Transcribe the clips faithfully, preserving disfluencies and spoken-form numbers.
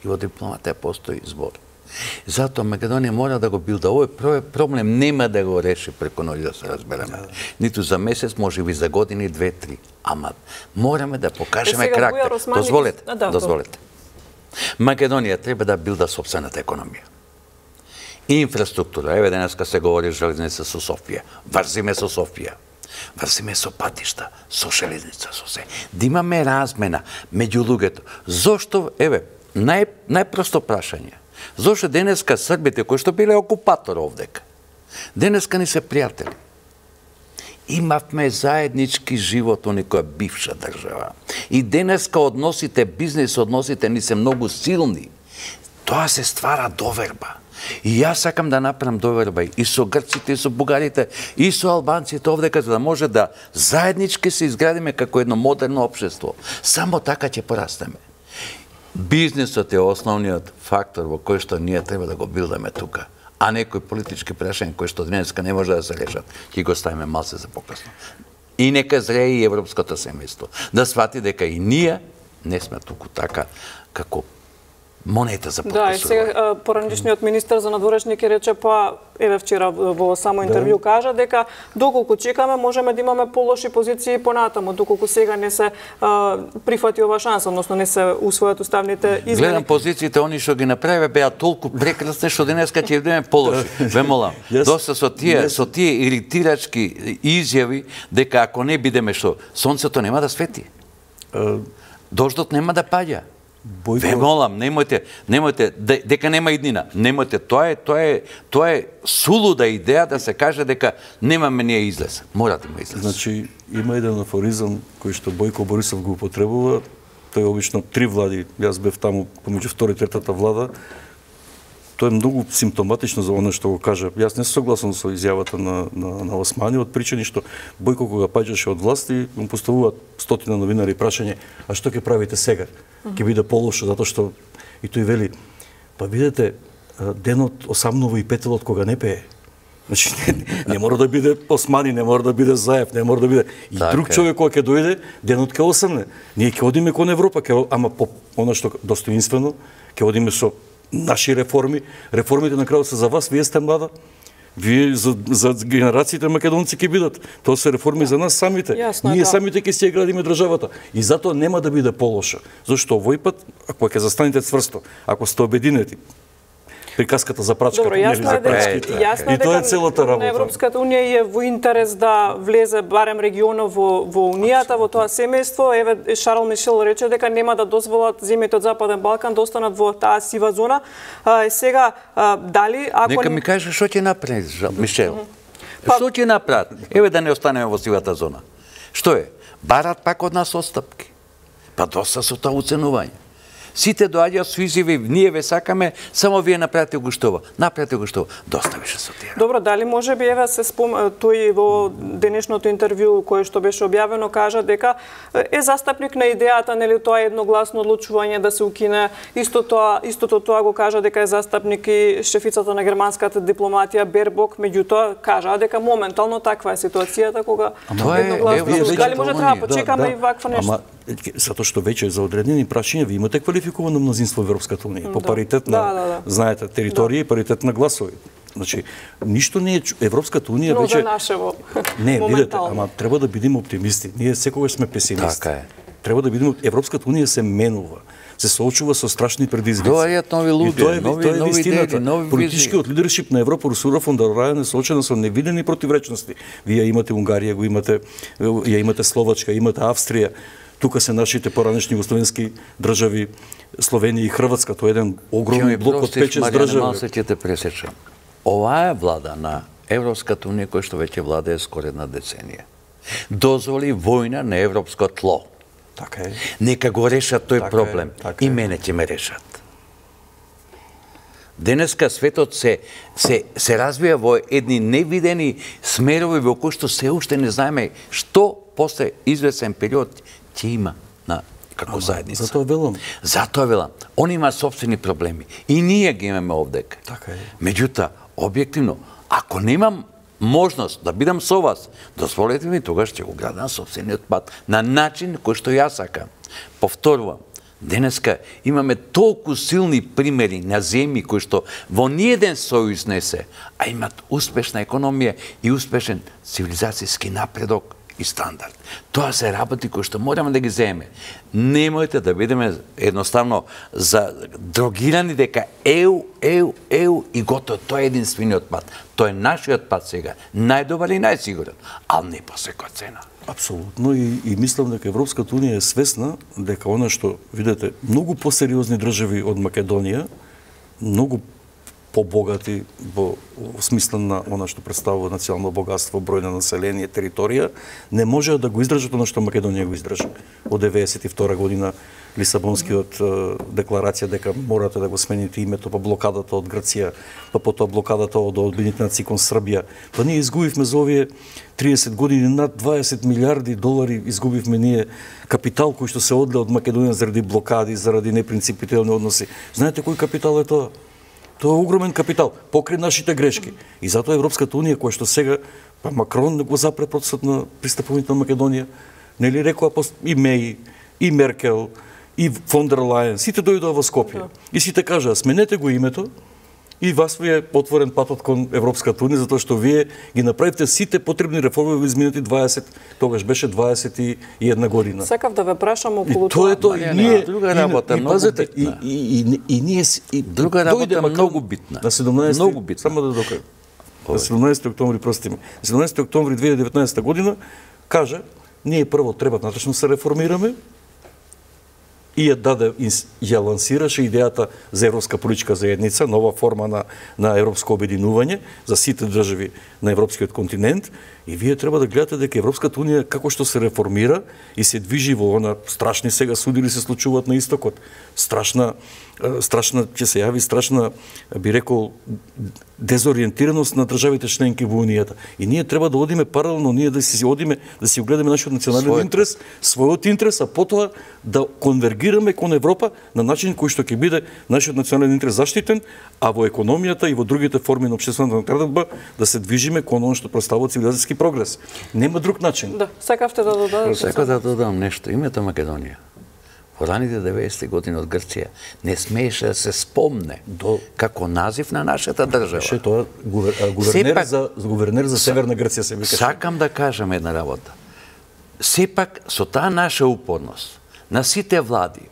И во дипломатија постои збор. Затоа Македонија мора да го билда. Овој проблем нема да го реши преку ноќ, да се разбереме. Ниту за месец, може би за години, две, три. Ама мораме да покажеме карактер. Дозволете, дозволете. Македонија треба да билда сопствената економија. Инфраструктура. Еве денеска се говори железница со Софија. Врзиме со Софија. Врзиме со патишта, со железница, со се. Да имаме размена меѓу луѓето. Зошто, еве, нај, најпросто прашање. Зошто денеска србите, кои што биле окупатор овдека, денеска ни се пријатели. Имавме заеднички живот во некоја бивша држава. И денеска односите, бизнес односите ни се многу силни. Тоа се ствара доверба. И јас сакам да направам доверба и со грците, и со бугарите, и со албанците овдека, за да може да заеднички се изградиме како едно модерно општество. Само така ќе порастеме. Бизнесот е основниот фактор во кој што ние треба да го билдаме тука, а некои политички прашања кои што денеска не може да се решат, ќе го ставиме малце за покасно. И нека зрее и европското семејство да свати дека и ние не сме туку така како монета за подписување. Да, и сега поранишниот министар за надворешни ќе рече, па еве вчера во само интервју кажа дека доколку чекаме можеме да имаме полоши позиции понатаму, доколку сега не се а, прифати ова шанса, односно не се усвојат уставните измени. Гледам позициите, они што ги направи беа толку прекрасни што денеска ќе бидеме полоши. Ве молам, доста со тие со тие иритирачки изјави дека ако не бидеме што сонцето нема да свети. Дождот нема да паѓа. Бойко... Ве молам, немојте, немојте, дека нема иднина. Немојте, тоа е, тоа е, тоа е сулуда идеја да се каже дека немаме ние излез. Мора да има излез. Значи, има еден афоризам кој што Бојко Борисов го употребува. Тој е обично три влади. Јас бев таму помеѓу втора и третата влада. Тоа е многу симптоматично за оно што го кажа. Јас не сум согласен со изјавата на, на, на Османи, од причини што Бојко кога паѓаше од власти, му поставуваат стотина новинари прашање, а што ќе правите сега? Ќе биде полошо, затоа што и тој вели, па видете, денот осамнува и петелот кога не пее. Значи, не, не мора да биде Османи, не мора да биде Заев, не мора да биде... И так друг е. Човек кога ќе дојде, денот ќе осамне. Ние ќе одиме кон Европа, ќе, ама по оно што достоинствено, ќе одиме со наши реформи. Реформите на крајот се за вас, вие сте млада. Вие за, за генерациите македонци ќе бидат. Тоа се реформи за нас самите. Ясно, ние да. самите ќе си ја градиме државата. И затоа нема да биде полошо. Зашто овој пат, ако ќе застанете цврсто, ако сте обединети, приказката за прачката. Добро, јасно е дека, јасно е дека на Европската унија е во интерес да влезе барем регионот во, во унијата, во тоа семејство. Еве Шарл Мишел рече дека нема да дозволат земјите од Западен Балкан да останат во таа сива зона. А, сега а, дали ако нека ми каже што ќе направи Мишел. Па... Што ќе направат? Еве да не останеме во сивата зона. Што е? Барат пак од нас отстапки. Па доста со тоа уценување. Сите доаѓаат со изјави, ние ве сакаме, само вие направете го што. Направете го што. Доста беше со тие. Добро, дали може би еве се спом тој во денешното интервју кое што беше објавено кажа дека е застапник на идејата, нели тоа едногласно одлучување да се укине. Исто тоа, истото тоа го кажа дека е застапник и шефицата на германската дипломатија Бербок, меѓутоа кажа дека моментално таква е ситуацијата кога едногласно. Дали може да почекаме и вакво нешто? Затоа што веќе за одредени прашања ви имате квалификувано мнозинство во Европската унија, по паритет на, да, да, да. знаете, територија и паритет на гласови. Значи, ништо не е Европската унија но веќе... за нашево. Не, видете, ама треба да бидеме оптимисти. Ние секогаш сме песимисти. Така е. Треба да бидеме... Европската унија се менува, се соочува со страшни предизвици. Доаѓаат нови луѓе, тоа е, нови, тоа е нови идеи, нови политичкиот лидершип на Европа, Урсула фон дер Лајен е соочена со невидени противречности. Вие имате Унгарија, го имате, ја имате Словачка, имате Австрија. Тука се нашите поранешни југословенски држави, Словенија и Хрватска, тоа е еден огромен блок од пет-шест држави. Малце ќе те пресечам. Оваа е влада на Европската унија која што веќе владее скоро една деценија. Дозволи војна на европско тло. Така е. Нека го решат тој така проблем. Е, така и мене ќе ме решат. Денеска светот се, се, се развија во едни невидени смерови во кои што се уште не знаеме што после извесен период ќе има на како заедница. Затоа велам. Затоа велам. Он има собствени проблеми. И ние ги имаме овдека. Така е. Меѓутоа, објективно, ако немам можност да бидам со вас, дозволете ми, тогаш ќе го градам собствениот пат на начин кој што јас сакам. Повторувам, Денеска имаме толку силни примери на земји кои што во ниеден сојуз не се, а имат успешна економија и успешен цивилизацијски напредок и стандард. Тоа се работи кои што мораме да ги земеме. Немојте да бидеме едноставно за дрогирани дека еу, еу, еу и готово. Тоа е единствениот пат. Тоа е нашиот пат сега. Најдобар и најсигурен, ал не по секоја цена. Апсолутно и, и мислам дека Европската унија е свесна дека она што видите многу посериозни држави од Македонија, многу побогати во, во смисла на она што представува национално богатство, број на население, територија, не можеа да го издржат она што Македонија го издржа. Од деветдесет и втора година Лисабонскиот декларација дека морате да го смените името, па блокадата од Грција, па потоа блокадата од Обединетите нации кон Србија. Па ние изгубивме за овие триесет години над дваесет милиарди долари изгубивме ние капитал кој што се одле од Македонија заради блокади, заради непринципителни односи. Знаете кој капитал е тоа? Тоа е огромен капитал, покрај нашите грешки. И затоа Европската унија, која што сега, па Макрон го запре процесот на пристапувањето на Македонија, нели рекоа и Меј, и Меркел, и фон дер Лајен, сите дојдоа во Скопје. И сите кажаа, сменете го името, и вас ви е отворен патот кон Европската унија, затоа што вие ги направивте сите потребни реформи во изминати дваесет, тогаш беше дваесет и една година. Сакав да ве прашам околу тоа. И тоа е тоа, и ние друга работа многу битна. И и и ние друга работа многу битна. На седумнаесети многу битна. Само да докажам. На седумнаесети октомври, прости ми. На седумнаесети октомври две илјади и деветнаесета година кажа, ние прво треба натрешно се реформираме, и ја даде, ја лансираше идејата за Европска политичка заедница, нова форма на, на европско обединување за сите држави на европскиот континент. И вие треба да гледате дека Европската унија како што се реформира и се движи во она страшни сега судили се случуваат на истокот. Страшна, страшна ќе се јави страшна, би рекол, дезориентираност на државите членки во унијата. И ние треба да одиме паралелно, ние да си одиме, да си огледаме нашиот национален својот интерес, својот интерес, а потоа да конвергираме кон Европа на начин кој што ќе биде нашиот национален интерес заштитен, а во економијата и во другите форми на општествената наредба да се движиме кон оно што представува цивилизацијски прогрес. Нема друг начин. Да, сакавте да додадете. Сакав да додам нешто. Името Македонија во раните деветдесети години од Грција не смееше да се спомне до како назив на нашата држава. Беше тоа гувернер Сепак, за гувернер за Северна Грција се викаше. Сакам да кажам една работа. Сепак со таа наша упорност на сите влади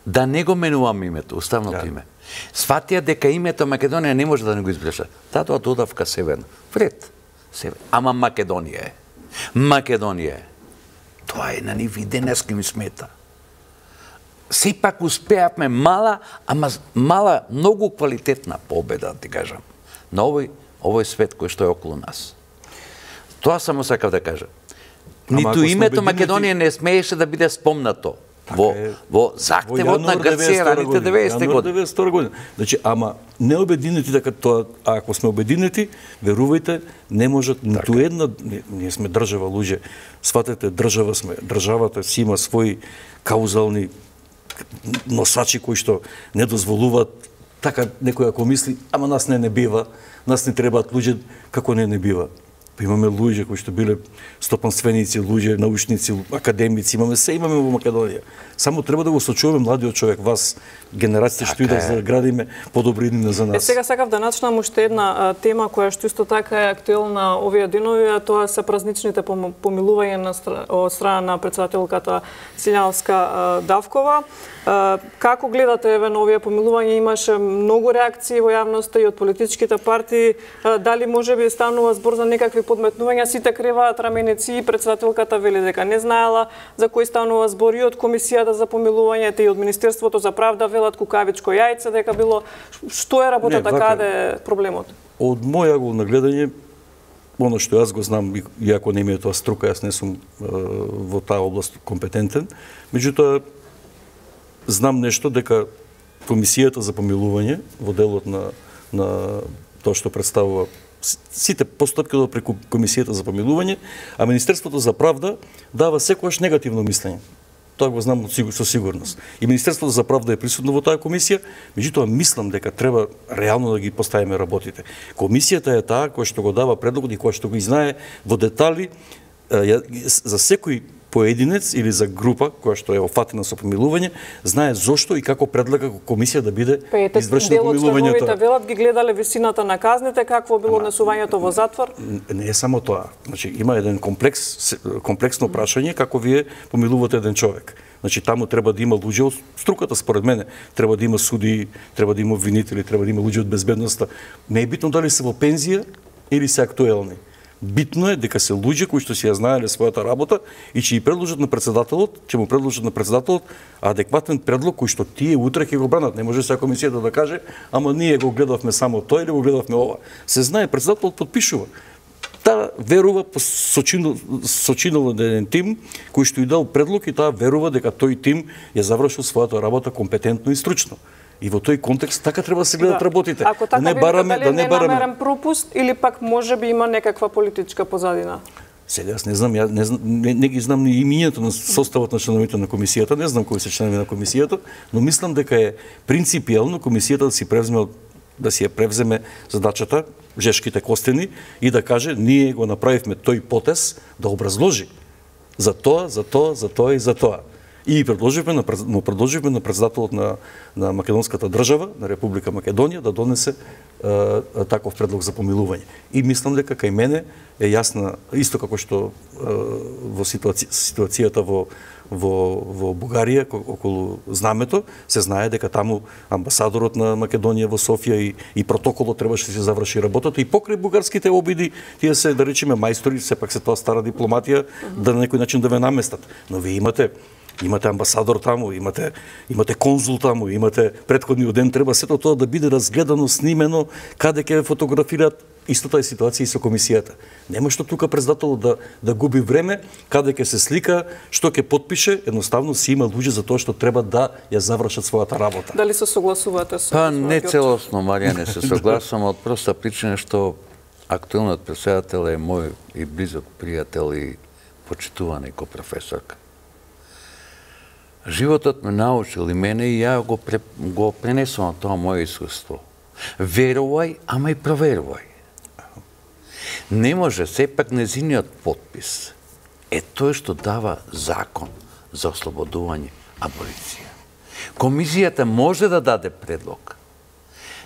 да не го менуваме името, уставното име. Сватија дека името Македонија не може да не го избреша. Татоа додавка Северна. Вред. Север. Ама Македонија е. Македонија е. Тоа е на нив и денеска ми смета. Сепак успеавме мала, ама мала, многу квалитетна победа, да ти кажам, на овој, овој свет кој што е околу нас. Тоа само сакав да кажам. Ниту името Македонија не смееше да биде спомнато во, во захтевот на Грција раните деветдесети години. деветдесета година. Значи, ама не обединети дека тоа, а ако сме обединети, верувајте, не можат ниту една, ние сме држава, луѓе, сватете, држава сме, државата си има своји каузални носачи кои што не дозволуваат, така некој ако мисли, ама нас не не бива, нас не требаат луѓе, како не не бива. Па имаме луѓе кои што биле стопанственици, луѓе, научници, академици, имаме се имаме во Македонија. Само треба да го сочуваме младиот човек, вас, генерациите што идат за да градиме подобри иднина за нас. Е, сега сакав да начнам уште една а, тема која што исто така е актуелна овие денови, а тоа се празничните помилувања на стра... од страна на претседателката Сињановска Давкова. А, како гледате еве на овие помилувања? Имаше многу реакции во јавноста и од политичките партии. А, дали можеби станува збор за некакви подметнувања? Сите криваат раменици и претседателката вели дека не знаела за кој станува збор, и од комисијата за помилувањето и од Министерството за правда велат кукавичко јајце, дека било. Што е работата, каде е проблемот? Од мој агол на гледање, оно што јас го знам, иако не ми е тоа струка, јас не сум е, во таа област компетентен, меѓутоа знам нешто дека комисијата за помилување во делот на на тоа што представува сите постапки до преку комисијата за помилување, а Министерството за правда дава секогаш негативно мислење. Тоа го знам со сигурност. И Министерството за правда е присутно во таа комисија, меѓутоа мислам дека треба реално да ги поставиме работите. Комисијата е таа која што го дава предлогот и која што го знае во детали за секој поединец или за група која што е офатена со помилување, знае зошто и како предлага комисија да биде извршено помилувањето. Делот велат ги гледале висината на казните, какво било однесувањето во затвор? Не е само тоа. Значи има еден комплекс комплексно прашање како вие помилувате еден човек. Значи таму треба да има луѓе од струката според мене, треба да има суди, треба да има обвинители, треба да има луѓе од безбедноста. Не е битно дали се во пензија или се актуелни. Битно е дека се луѓе кои што си ја знаеле својата работа и ќе ја предложат на председателот, ќе му предложат на председателот адекватен предлог кој што тие утре ќе го бранат. Не може сега комисијата да каже, ама ние го гледавме само тој или го гледавме ова. Се знае, председателот подпишува. Таа верува, сочинал, сочинал еден тим кој што и дал предлог и таа верува дека тој тим ја завршил својата работа компетентно и стручно. И во тој контекст така треба да се гледат да. работите. Ако така да не бараме, да не бараме. Ненамерен пропуст или пак може би има некаква политичка позадина? Сега јас не знам, ја не, не, не ги знам ни имињето на составот на членовите на комисијата, не знам кои се членови на комисијата, но мислам дека е принципиелно комисијата да си превземе да си ја превземе задачата, жешките костени и да каже ние го направивме тој потез, да образложи за тоа, за тоа, за тоа и за тоа. И предложивме на но предложивме на председателот на на македонската држава, на Република Македонија да донесе е, таков предлог за помилување. И мислам дека кај мене е јасна исто како што е, во ситуаци, ситуацијата во во во Бугарија околу знамето се знае дека таму амбасадорот на Македонија во Софија и и протоколот требаше да се заврши работата и покрај бугарските обиди тие се да речеме мајстори, сепак се тоа стара дипломатија да на некој начин да ве наместат. Но вие имате Имате амбасадор таму, имате имате конзул таму, имате претходниот ден треба сето тоа да биде разгледано, снимено, каде ќе фотографираат. Истата е ситуација и со комисијата. Нема што тука председателот да да губи време, каде ќе се слика, што ќе потпише, едноставно си има луѓе за тоа што треба да ја завршат својата работа. Дали се согласувате со? Па не целосно, Марија, не се согласувам од проста причина што актуелниот претседател е мој и близок пријател и почитуван и ко професорка. Животот ме научил и мене и ја го, пре, го пренесувам тоа моје искуство. Верувај, ама и проверувај. Не може, сепак незиниот подпис е тој што дава закон за ослободување, аболиција. Комисијата може да даде предлог.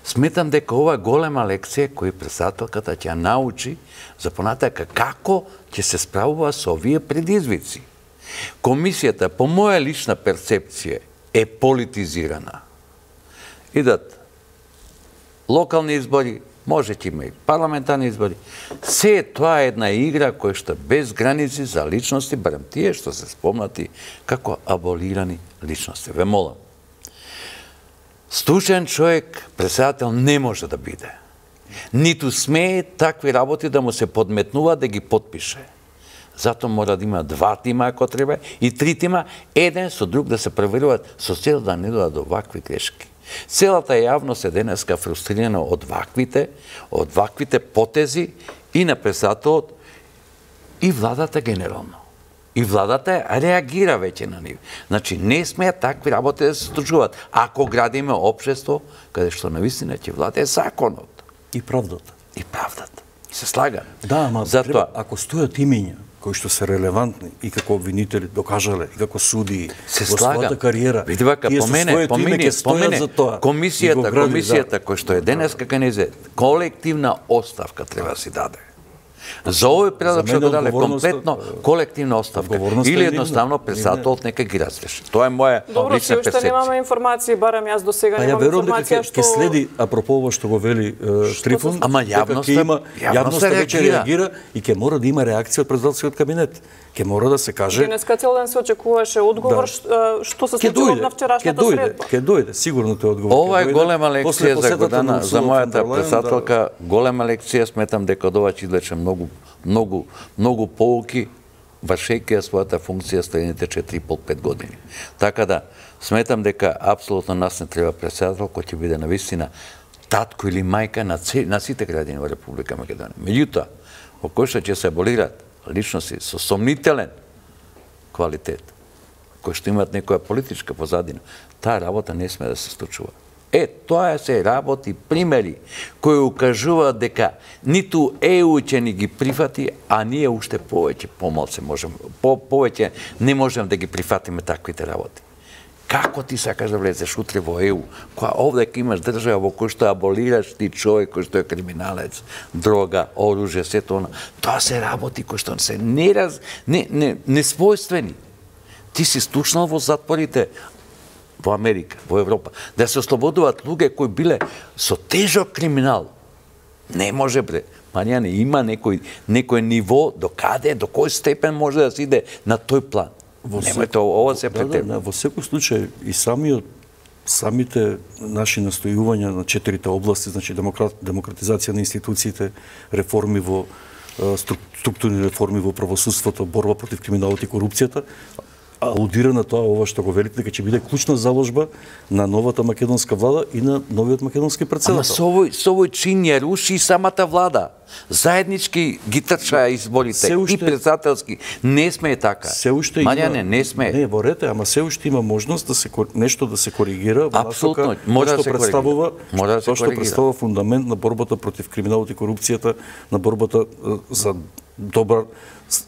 Сметам дека ова е голема лекција која председателката ќе научи за понатака како ќе се справува со овие предизвици. Комисијата, по моја лична перцепција, е политизирана. Идат локални избори, може ќе има и парламентарни избори. Се тоа е една игра која што без граници за личности, барем тие што се спомнати како аболирани личности. Ве молам. Стручен човек, председател не може да биде. Ниту смее такви работи да му се подметнува да ги подпише. Затоа мора да има два тима ако треба и три тима, еден со друг да се проверуваат со цел да не дојдат до вакви грешки. Целата јавност е денеска фрустрирана од ваквите, од ваквите потези и на председателот и владата генерално. И владата реагира веќе на нив. Значи не смеа такви работи да се случуваат. Ако градиме општество каде што навистина ќе владее законот и правдата. И правдата. Се слага. Да, ама затоа треба, ако стојат имиња кои што се релевантни и како обвинители докажале и како суди во својата кариера. Види вака, помене, помене, помене, комисијата, комисијата која што е денеска канезе, колективна оставка треба да си даде. За овој предлог што го даде комплетно колективна оставка или едноставно председателот нека ги разреши. Тоа е моја Добро, лична перцепција. Добро, немаме информации, барам јас до сега немам информација што ќе следи апропо ова што го вели Трифун. Ама јавноста, јавноста веќе реагира и ќе мора да има реакција од председателскиот кабинет. Ќе мора да се каже. Денеска цел ден се очекуваше одговор што се случило на вчерашната средба. Ќе дојде, сигурно тој одговор. Ова е голема лекција за Годана, за мојата председателка, голема лекција, сметам дека од ова ќе извлече многу многу многу поуки вршејќи својата функција следните четири и пол до пет години. Така да сметам дека апсолутно нас не треба председател кој ќе биде навистина татко или мајка на, на сите граѓани во Република Македонија. Меѓутоа, во кој што ќе се аболираат личности со сомнителен квалитет, кои што имаат некоја политичка позадина, таа работа не сме да се случува. Е, тоа се работи примери кои укажуваат дека ниту Е У ќе ни ги прифати, а ние уште повеќе помалку можеме, по повеќе не можеме да ги прифатиме таквите работи. Како ти сакаш да влезеш утре во Е У, која овде имаш држава во кој што аболираш ти човек кој што е криминалец, дрога, оружје, сето она. Тоа се работи кои што се нераз, не, не, несвојствени. Ти си стучнал во затворите во Америка, во Европа, да се ослободуваат луѓе кои биле со тежок криминал. Не може, бре. Маријане, има некој, некој ниво до каде, до кој степен може да се иде на тој план. Немојте ова се претер. Да, да, во секој случај и самиот самите наши настојувања на четирите области, значи демократ, демократизација на институциите, реформи во структурни реформи во правосудството, борба против криминалот и корупцијата, алудира на тоа ова што го велите дека ќе биде клучна заложба на новата македонска влада и на новиот македонски претседател. Ама со овој, со овој чин ја руши самата влада. Заеднички ги трча изборите уште, и председателски. Не сме така. Се уште Маријане, има, не сме. Не, во рете, ама се уште има можност да се нешто да се коригира во Апсолутно, мора да се представува, мора да се што представува фундамент на борбата против криминалот и корупцијата, на борбата за добар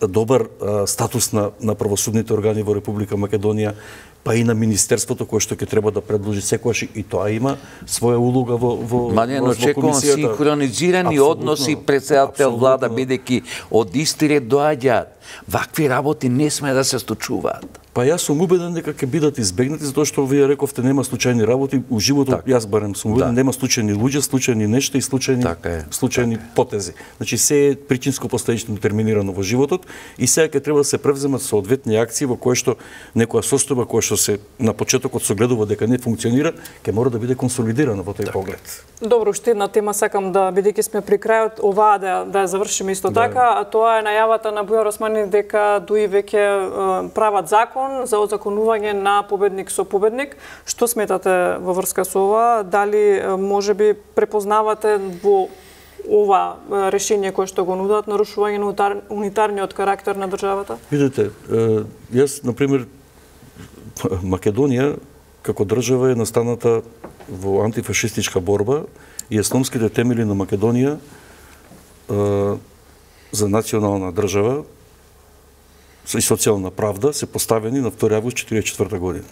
добар а, статус на, на правосудните органи во Република Македонија, па и на Министерството кое што ќе треба да предложи секојаш и тоа има своја улога во во Маријано, очекувам синхронизирани односи председател влада, бидејќи од исти ред доаѓаат. Вакви работи не сме да се случуваат. Па јас сум убеден дека ќе бидат избегнати, затоа што вие рековте нема случајни работи у животот. Так. Јас барем сум убеден, да. Нема случајни луѓе, случајни нешта и случајни така случајни така. Потези. Значи се е причинско последично детерминирано во животот и сега ќе треба да се превземат соодветни акции во кои што некоја состојба која што се на почетокот се гледува дека не функционира, ќе мора да биде консолидирана во тој поглед. Добро, уште една тема сакам да, бидејќи сме при крајот, оваа да да ја завршиме исто да. Така, а тоа е најавата на Бујар Османи дека дуи веќе прават закон за озаконување на победник со победник. Што сметате во врска со ова? Дали можеби препознавате во ова решение кое што го нудат нарушување на унитарниот карактер на државата? Видете, јас на пример Македонија како држава е настаната во антифашистичка борба и основските темели на Македонија за национална држава и социјална правда се поставени на втори август четиридесет и четврта година.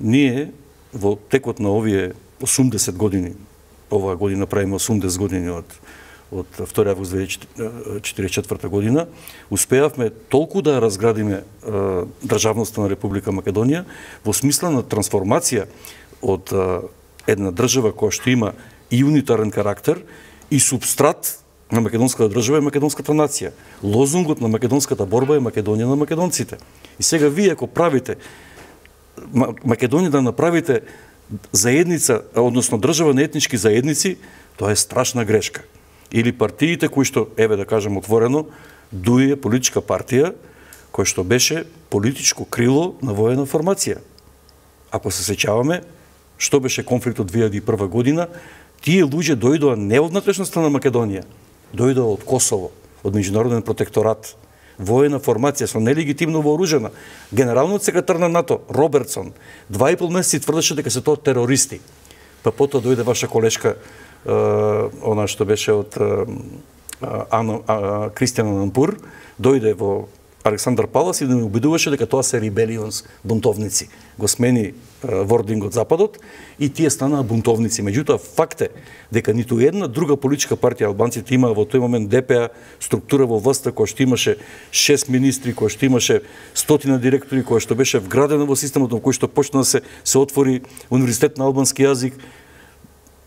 Ние во текот на овие осумдесет години, оваа година правиме осумдесет години од од втори август две илјади четиридесет и четврта година, успеавме толку да разградиме е, државноста на Република Македонија во смисла на трансформација од е, една држава која што има и унитарен карактер и субстрат на македонската држава е македонската нација. Лозунгот на македонската борба е Македонија на македонците. И сега вие ако правите Македонија да направите заедница, односно држава на етнички заедници, тоа е страшна грешка. Или партиите кои што, еве да кажем отворено, ДУИ е политичка партија која што беше политичко крило на воена формација. Ако се сеќаваме, што беше конфликтот две илјади и прва година, тие луѓе дојдоа не од внатрешноста на Македонија, дојдоа од Косово, од меѓународен протекторат, воена формација со нелегитимно вооружена. Генералниот секретар на НАТО, Робертсон, два и пол месеци тврдеше дека се тоа терористи. Па потоа дојде ваша колешка, она што беше од Кристијан Анампур, дојде во Александар Палас и да ме убедуваше дека тоа се ребелионс, бунтовници. Го смени вординг од Западот и тие станаа бунтовници. Меѓутоа, факт е дека ниту една друга политичка партија, албанците имаа во тој момент ДПА, структура во власта која што имаше шест министри, која што имаше стотина директори, која што беше вградена во системот, во кој што почна да се, се отвори универзитет на албански јазик.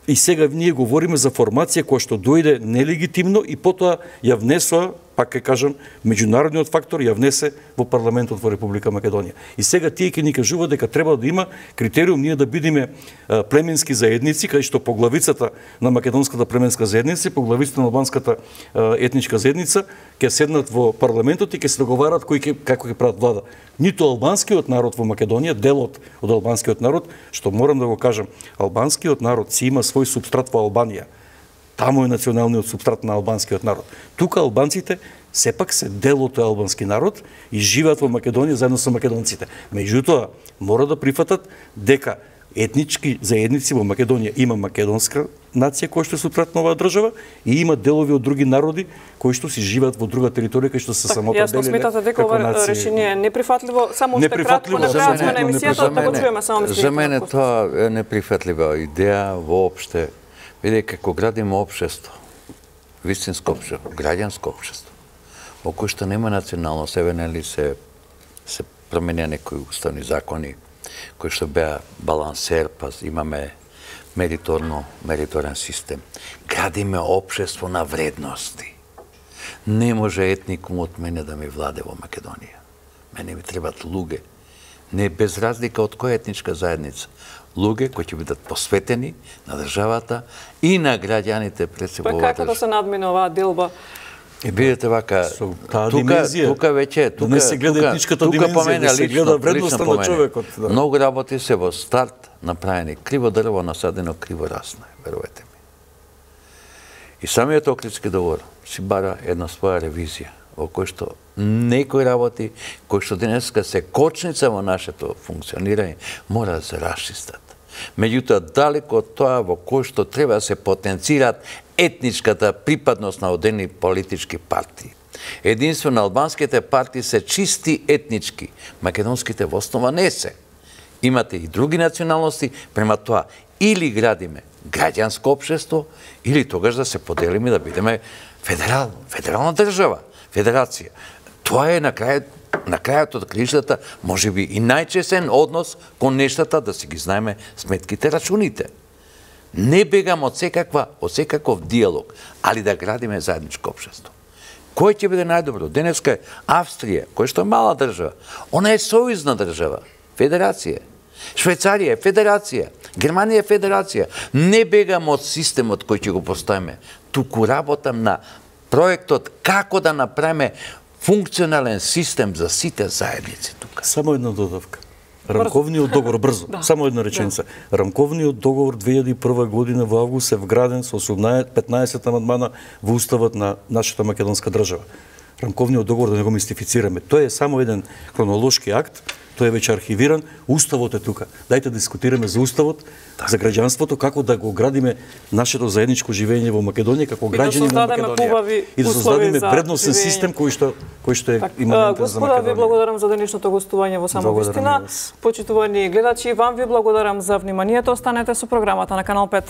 И сега ние говориме за формација која што дојде нелегитимно и потоа ја внесоа, пак ќе кажам, меѓународниот фактор ја внесе во парламентот во Република Македонија. И сега тие ќе ни кажуваат дека треба да има критериум ние да бидеме племенски заедници, кај што поглавицата на македонската племенска заедница и поглавицата на албанската етничка заедница ќе седнат во парламентот и ќе се договарат кој ќе како ќе прават влада. Ниту албанскиот народ во Македонија, делот од албанскиот народ, што морам да го кажам, албанскиот народ си има свој субстрат во Албанија. Таму е националниот субстрат на албанскиот народ. Тука албанците сепак се дел од тој албански народ и живеат во Македонија заедно со македонците. Меѓутоа, мора да прифатат дека етнички заедници во Македонија. Има македонска нација која што се пратна оваа држава и има делови од други народи кои што си живеат во друга територија кои што се самоопределиле. Јасно сметате дека ова решение е неприфатливо, само уште кратко на крајот сме на емисијата, да го чуеме само мислите. За мене тоа е неприфатлива идеја воопште. Видите, како градиме општество, вистинско општество, граѓанско општество, во кој што нема националност, еве нели се се променија некои уставни закони кои што беа балансер, па имаме мериторно, мериторен систем. Градиме општество на вредности. Не може етникум од мене да ми владе во Македонија. Мене ми требат луѓе, не без разлика од која етничка заедница. Луѓе кои ќе бидат посветени на државата и на граѓаните пред се во оваа држава. Како да се надмине оваа делба? И бидете вака, таа тука, димензија, тука веќе, тука, да не се гледа тука, етничката тука димензија, по мене, да се лично, гледа вредноста лично по на мене. човекот. Да. Многу работи се во старт направени. Криво дрво насадено, криво расне, верувате ми. И самиот Охридски договор си бара една своја ревизија, во кој што некои работи, кои што денеска се кочница во нашето функционирање, мора да се расчистат. Меѓутоа, далеко од тоа во кој што треба да се потенцираат етничката припадност на одени политички партии. Единствено албанските партии се чисти етнички, македонските во основа не се. Имате и други националности, према тоа или градиме граѓанско општество, или тогаш да се поделиме да бидеме федерал, федерална држава, федерација. Тоа е на крајот на крајот од кришата, може би и најчесен однос кон нештата да си ги знаеме сметките, рачуните. Не бегам од секаква, од секаков диалог, али да градиме заедничко општество. Кој ќе биде најдобро? Денеска е Австрија, која што е мала држава. Она е сојузна држава, федерација. Швајцарија е федерација, Германија е федерација. Не бегам од системот кој ќе го поставиме, туку работам на проектот како да направиме функционален систем за сите заедници тука. Само една додавка. Рамковниот договор, брзо, да. Само една реченица. Да. Рамковниот договор две илјади и прва година во август е вграден со петнаесет амандмана во уставот на нашата македонска држава. Рамковниот договор, да не го мистифицираме, тој е само еден хронолошки акт, тој е веќе архивиран, уставот е тука. Дајте да дискутираме за уставот, так. За граѓанството, како да го градиме нашето заедничко живење во Македонија, како граѓани на Македонија. И да создадеме вредносен систем кој што кој што е так, иманентен за Македонија. Господа, ви благодарам за денешното гостување во Само вистина. Почитувани гледачи, вам ви благодарам за вниманието. Останете со програмата на Канал пет.